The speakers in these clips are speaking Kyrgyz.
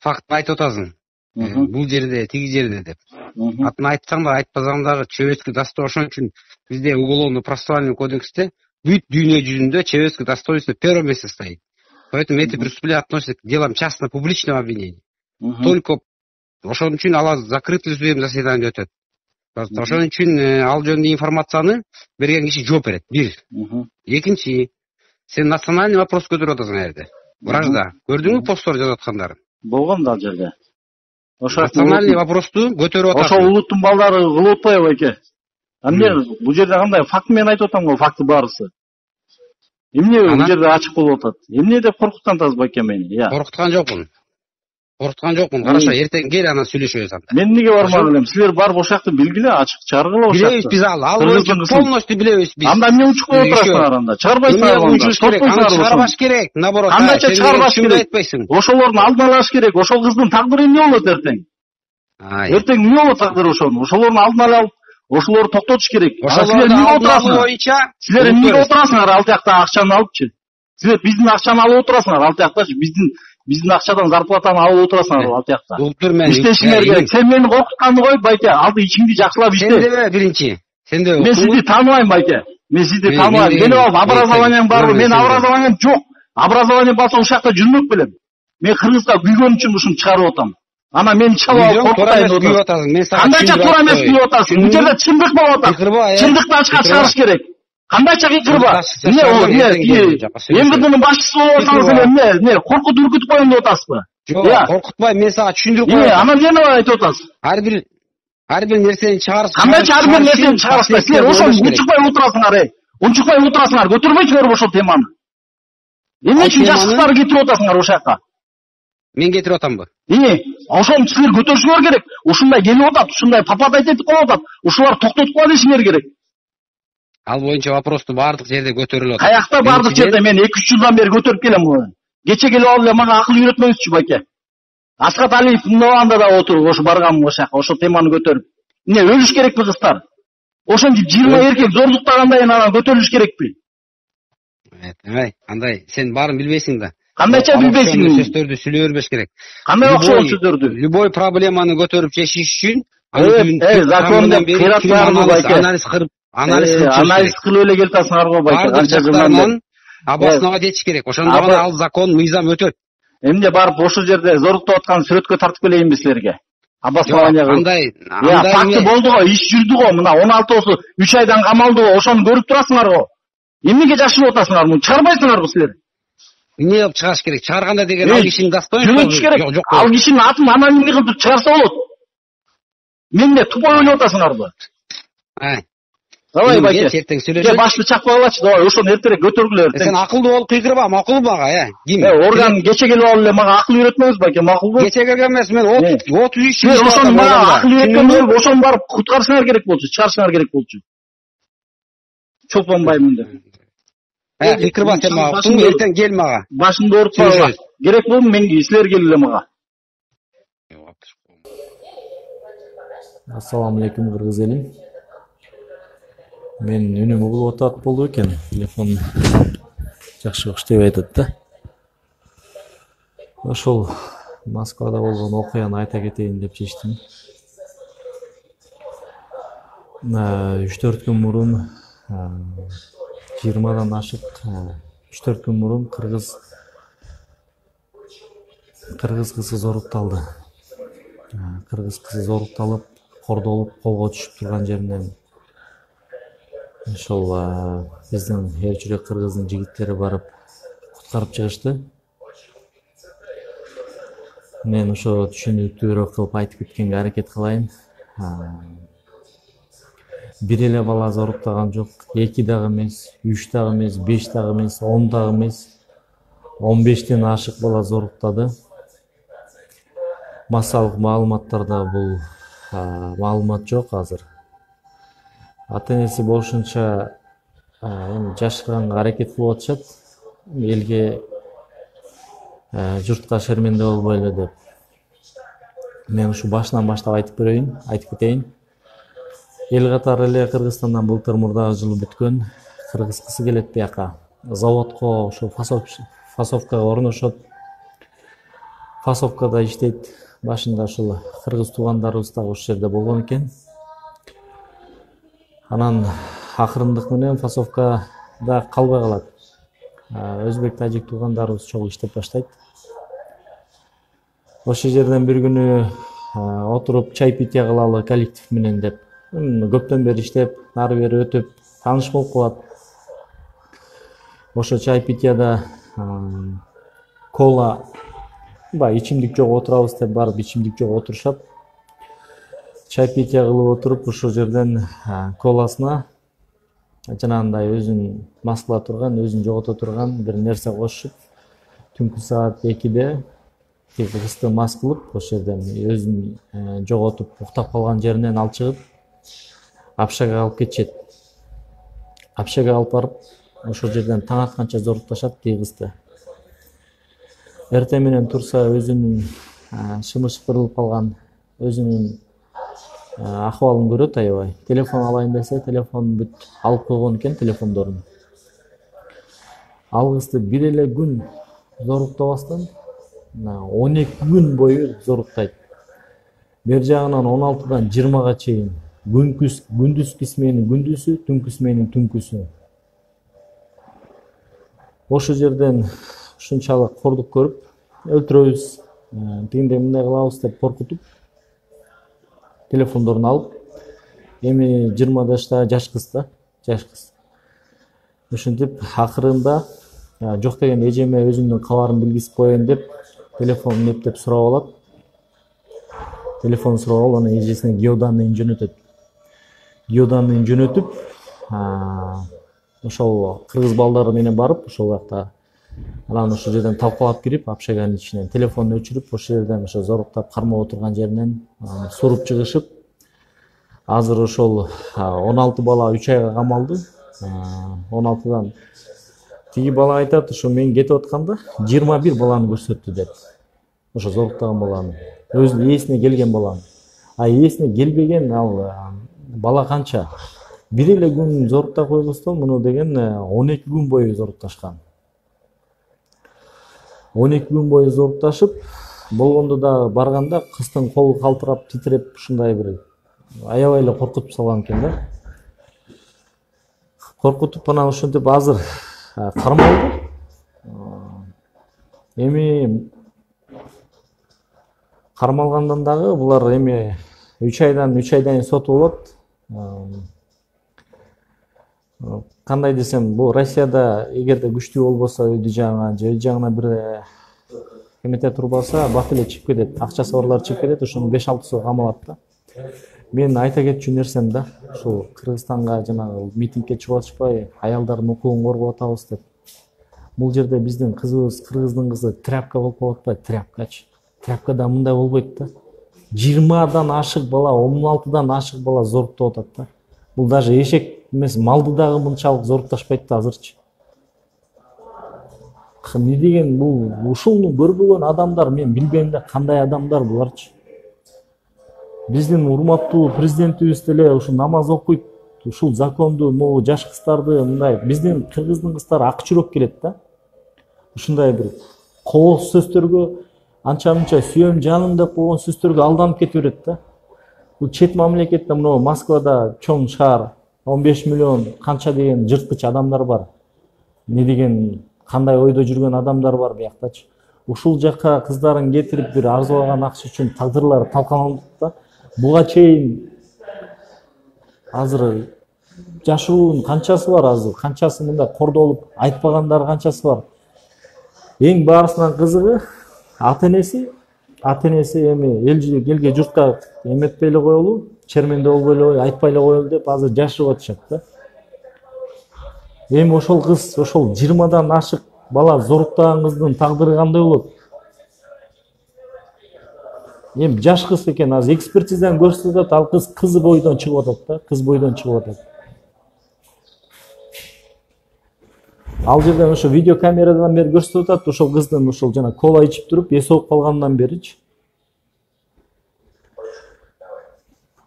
факт айтып атасың. Бул жерде, тиги жерде деп. Атын айтсаң да, айтпасаң дагы чебецкий дастой ошон үчүн бизде уголовно-процессуальный кодексте бүт дүйнө жүзүндө чебецкий достоинство первое место стоит. Поэтому эти преступления относятся к делам частно-публичного обвинения. Только ошон үчүн алар закрытый судебный заседание өтөт. Ошон үчүн ал жөнүндө информацияны берген киши жооп берет. Бир. Экинчи, сен национальный вопрос көтөрүп атасың жерде. Вражда. Көрдүңбү посттор жазып аткандарын? Болгон да ал жерде. Национальный вопросту көтөрүп атасың. Ошол улуттун балдары кылып атпайбы эке? Эмне бул жерде кандай факт менен айтып атам го, факты баарысы. Эмне бул жерде ачык болуп атат? Эмне деп коркуткан атасыз байке мени? Коркуткан жокмун. Караша, эртең кел анан сүйлөшөбүз анда. Мен эмнеге бармак элем? Силер барып ошол жакты билгиле, ачык чыгаргыла ошол жакты. Билебиз биз ал боюнча полностью билебиз биз. Анда эмне учукпай отурасыңар анда? Чыгарбайсыңар анда. Чыгарбаш керек, наоборот. Кандайча чыгарбаш керек? Ошолордун алдын алыш керек. Ошол кыздын тагдыры эмне болот эртең? Эртең эмне болот тагдыры ошонун? Ошолордун алдын алып, ошолорду токтотуш керек. Силер эмнеге отурасыңар? Силер эмнеге отурасыңар ал жакта акчаны алыпчы? Силер биздин акчаны алып отурасыңар ал жактачы, биздин акчадан зарплатаны алып отурасыңар ал жакта. Иштешиңер керек. Сен мени коркутканды коюп байке, алды ичиңди жакшылап иште. Сендебе биринчи. Сенде. Мен сизди тааныбайм байке. Мен сизди тааныбайм. Мени алып образованием барбы? Мен образованием жок. Образование болсо ушул жакта жүрмөк белем. Мен Кыргызда күйгөн үчүн ушуну чыгарып атам. Ана мен чалып алып коркутайын атасың. Кандайча туура эмес күйүп атасың? Бул жерде чындык болуп атат. Чындыкты ачыкка чыгарыш керек. Кандайча кыйкырба. МВДнын башчысы болуп атсаңыз эле эмне коркутуп үркүтүп коеюн деп атасызбы? Жок, коркутпайм, мен сага түшүндүрүп коём. Анан эмне айтып атасыз? Ар бир нерсени чыгарып. Кандайча ар бир нерсени чыгарышпайсыз? Силер ошону унчукпай отурасыңар, унчукпай отурасыңар, көтөрбөйсүңөр ошол теманы. Эмне үчүн жашыктарды кетирип атасыңар ошол жака? Мен кетирип атамбы? Ошону силер көтөрүшүңөр керек. Ушундай келип атат, ушундай папатай этип калып атат. Ушулар токтотуп кала дешиңер керек. Ал боюнча вопросту баардык жерде көтөрүлүп атат. Каякта баардык жерде? Мен 2-3 жылдан бери көтөрүп келем муну. Кече келип алып эле мага акыл үйрөтмөңүзчү байке. Асхат Алиев мындаганда да отуруп ошо баргам ошол жака, ошол теманы көтөрүп. Эмне өлүш керекпи кыздар? Ошентип 20 эркек зордуктагандай анан көтөрүлүш керекпи? Андай, сен баарын билбейсиң да. Кандайча билбейсиң? Сөздөрдү сүйлөй бербеш керек. Кандай окшогон сөздөрдү? Любой проблеманы көтөрүп чечиш үчүн законду кыйратканды байке. Анализ кылып эле келатасыңар го байке. Канча жылдан обоснова этиш керек. Ошондо гана ал закон, мыйзам өтөт. Эмне барып ошол жерде зоруктуп аткан сүрөткө тартып келейинби силерге? Обоснование кылып. Андай факты болду го, иш жүрдү го. Мына 16 3 айдан камалды го. Ошону көрүп турасыңар го. Эмнеге жашырып атасыңар муну? Чыгарбайсыңарбы силер? Эмне кылып чыгарыш керек? Чыгарганда деген ал кишинин достоинствосу керек. Ал кишинин атын анонимдик кылып чыгарса болот. Менде тупой ойлоп атасыңарбы? Давай байке. Башты чакпагылачы, давай ошону эртерээк көтөргүлө. Сен акылдуу болуп кыйкырба, макул мага, Ким? Орган кече келип алып эле мага акыл үйрөтмөңүз байке, макулбу? Кече келген эмес, мен 33 жыл. Ошону мага акыл үйрөткөндө ошону барып куткарышыңар керек болчу, чыгарышыңар керек болчу. Чолпонбаймын деп. Кыйкырба сен мага, эртең кел мага. Башымды оорутпагыла. Керек болду мен силер келгиле мага. Ассаламу алейкум кыргыз элим. Мен үнүм угулуп атат болду экен. Телефон жакшы иштебей атат да. Ошол Москвада болгон окуяны айта кетейин деп чечтим. 3-4 күн мурун 20-дан ашык 3-4 күн мурун кыргыз кызы зорукталды. Кыргыз кызы зорукталып, кордолуп, колго түшүп турган жеринен ошол биздин эр жүрөк кыргыздын жигиттери барып куткарып чыгышты. Мен ошо түшүнүктүүрөөк кылып айтып кеткенге аракет кылайын. Бир эле бала зоруктаган жок, 2 дагы эмес, 3 дагы эмес, 5 дагы эмес, 10 дагы эмес, 15ден ашык бала зоруктады. Массалык маалыматтарда бул маалымат жок азыр. Ата-энеси болушунча жашырганга аракет кылып атышат. Элге журтка шерменде болбойлу деп. Мен ушу башынан баштап айтып кетейин. Эл катары эле Кыргызстандан былтыр мурдагы жылы бүткөн. Кыргыз кызы келет бияка. Заводко, ошо фасовкага орношот. Фасовкада иштейт. Башында ушул кыргыз туугандарыбыз да ошол жерде болгон экен. Анан акырындык менен Фасовкада калбай калат. Өзбек, тажик туугандарыбыз чогуу иштеп баштайт. Ошол жерден бир күнү отуруп чай питья кылалы коллектив менен деп көптөн бери иштеп, нары бери өтүп тааныш болуп калат. Ошо чай питьяда кола ичимдик жок отурабыз деп барып ичимдик жок отурушат. Чай питья кылып отуруп ошол жерден коласына жанагындай өзүн мас кыла турган, өзүн жогото турган бир нерсе кошуп, түнкү саат 2-де кызды мас кылып, ошол жерден өзүн жоготуп, уктап калган жеринен алып чыгып, Апшага алып кетишет. Апшага алып барып, ошол жерден таң атканча зорукташат кызды. Эртең менен турса өзүнүн шымышкырылып калган, өзүнүн акыбалын көрөт аябай. Телефон алайын десе, телефонун бүт алып койгон экен телефондорун. Ал кызды бир эле күн зоруктабастан 12 күн бою зоруктайт. Бер жагынан 16-дан 20-га чейин күндүзкү сменин күндүзү, түнкү сменин түнкүсү. Ошол жерден ушунчалык кордук көрүп, өлтүрөбүз, тигиндей мындай кылабыз деп коркутуп, телефондорун алып, эми 20 жашта жаш кыз да, жаш кыз. Ошентип акырында жок деген эжеме өзүмдүн кабарын билгизип коеюн деп телефонун эптеп сурап алат. Телефон сурап алып, анан эжесине геоданныйын жөнөтөт. Геоданныйын жөнөтүп, ошол кыргыз балдары менен барып, ошол жакта анан ошол жерден талкалап кирип, Апшаганын ичинен телефонун өчүрүп, ошол жерден ошо зоруктап кармап отурган жеринен суруп чыгышып, азыр ошол 16 бала 3 айга камалды. 16-дан тиги бала айтат, ошо мен кетип атканда 21 баланы көрсөттү деп. Ошо зоруктаган баланы, өзүнүн ээсине келген баланы. Ээсине келбеген ал бала канча? Бир эле күн зорукта койбостон муну деген 12 күн бою зорукташкан. 12 күн бою зорукташып, болгондо да барганда кыздын колу калтырап, титиреп, ушундай бир аябай эле коркутуп салган экен да. Коркутуп анан ошентип азыр кармалды. Эми кармалгандан дагы булар эми 3 айдан соту болот. Кандай десем, бул Россияда эгерде күчтүү болбосо өйдү жагына, же жагына бир кемете турбаса, бат эле чыгып кетет. Акчасы барлар чыгып кетет, ошонун 5-6 жыл камалат да. Мен айта кетчү нерсем да, ушул Кыргызстанга жанагы митингге чыгып атышпай, аялдардын укугун коргоп атабыз деп. Бул жерде биздин кызыбыз, кыргыздын кызы тряпка болуп атпайбы, тряпкачы. Тряпкада мындай болбойт да. 20-дан ашык бала, 16-дан ашык бала зоруктоп атат да. Бул даже эшек эмес, малды дагы мынчалык зорукташпайт да азырчы. Эмне деген бул ушуну көрбөгөн адамдар, мен билбейм да кандай адамдар буларчы. Биздин урматтуу президентибиз деле ушу намаз окуйт, ушул законду, могу жаш кыздарды мындай, биздин кыргыздын кыздары ак жүрөк келет да. Ушундай бир кооз сөздөргө, анча-мынча сүйөм жаным деп койгон сөздөргө алданып кете берет да. Бул чет мамлекетте, мына Москвада чоң шаар, 15 миллион канча деген жырткыч адамдар бар. Не деген кандай ойдо жүргөн адамдар бар бияктачы. Ушул жакка кыздарын кетирип бир арзыбаган акча үчүн тагдырлары талкаланып да. Буга чейин азыр жашоонун канчасы бар азыр, канчасы мындай кордолуп айтпагандар канчасы бар. Эң баарысынан кызыгы ата-энеси эми элге журтка эметпей эле коелу, черменде болбой эле, айтпай эле коелу деп азыр жашырып атышат да. Эми ошол кыз, ошол 20-дан ашык бала зоруктаган кыздын тагдыры кандай болот? Эми жаш кыз экен, азыр экспертизадан көрсөтөт, ал кыз бойдон чыгып атат да, кыз бойдон чыгып атат. Ал жерден ошо видеокамерадан бери көрсөтүп атат, ошол кыздын ошол жана кола ичип туруп эси ооп калгандан беричи.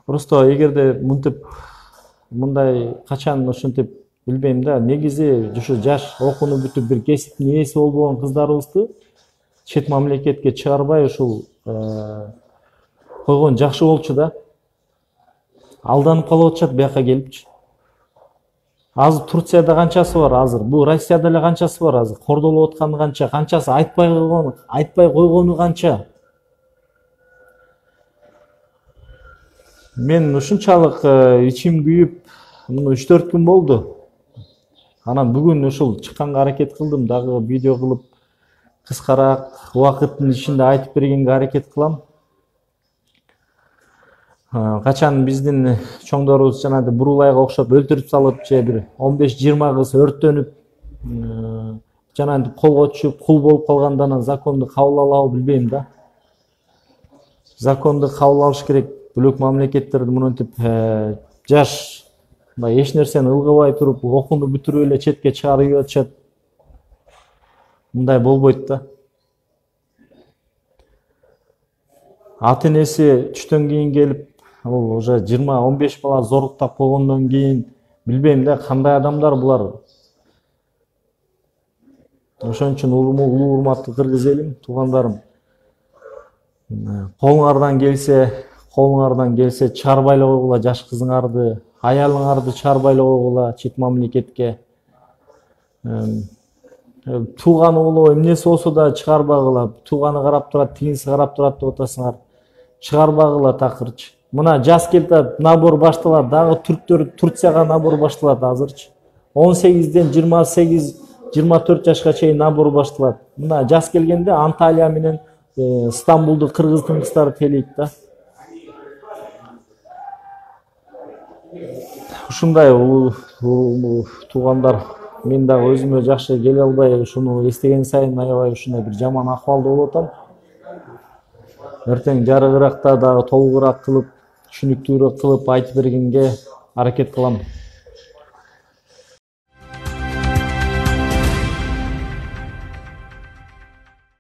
Просто эгерде мынтип мындай качан ошентип билбейм да, негизи ушу жаш окууну бүтүп бир кесиптин ээси болбогон кыздарыбызды чет мамлекетке чыгарбай ушул койгон жакшы болчу да. Алданып калып атышат бияка келипчи. Азыр Турцияда канчасы бар азыр? Бул Россияда эле канчасы бар азыр? Кордолуп атканы канча? Канчасы айтпай койгону канча? Мен ушунчалык ичим күйүп, муну 3-4 күн болду. Анан бүгүн ушул чыкканга аракет кылдым, дагы видео кылып кыскараак убакыттын ичинде айтып бергенге аракет кылам. Качан биздин чоңдорубуз жанагы бурулайга окшоп өлтүрүп салып, же бир 15-20 кыз өрттөнүп, жанагы колго түшүп кул болуп калганда анан законду кабыл алабы билбейм да. Законду кабыл алыш керек. Бөлөк мамлекеттерде мынтип жаш эч нерсени ылгыбай туруп, окууну бүтүрүп эле четке чыгарып атышат. Мындай болбойт да. Ата-энеси түштөн кийин келип, ал уже 20-15 бала зорлуктап койгондон кийин билбейм да кандай адамдар булар. Ошон үчүн улуу урматтуу кыргыз элим, туугандарым, колуңардан келсе чыгарбай эле койгула жаш кызыңарды, аялыңарды чыгарбай эле койгула чет мамлекетке. Тууганы болобу, эмнеси болсо да чыгарбагыла. Тууганы карап турат, тигинси карап турат деп атасыңар. Чыгарбагыла такырчы. Мына жаз келип набор башталат, дагы түрктөр Турцияга набор башталат азырчы. 18ден 28-24 жашка чейин набор башталат. Мына жаз келгенде Анталия менен Стамбулду кыргыздын кыздары тейлейт да. Ушундай туугандар, мен дагы өзүмө жакшы келе албай, ушуну эстеген сайын аябай ушундай бир жаман акыбалда болуп атам. Эртең жарыгыракта дагы толугураак кылып, түшүнүктүүрөөк кылып айтып бергенге аракет кылам.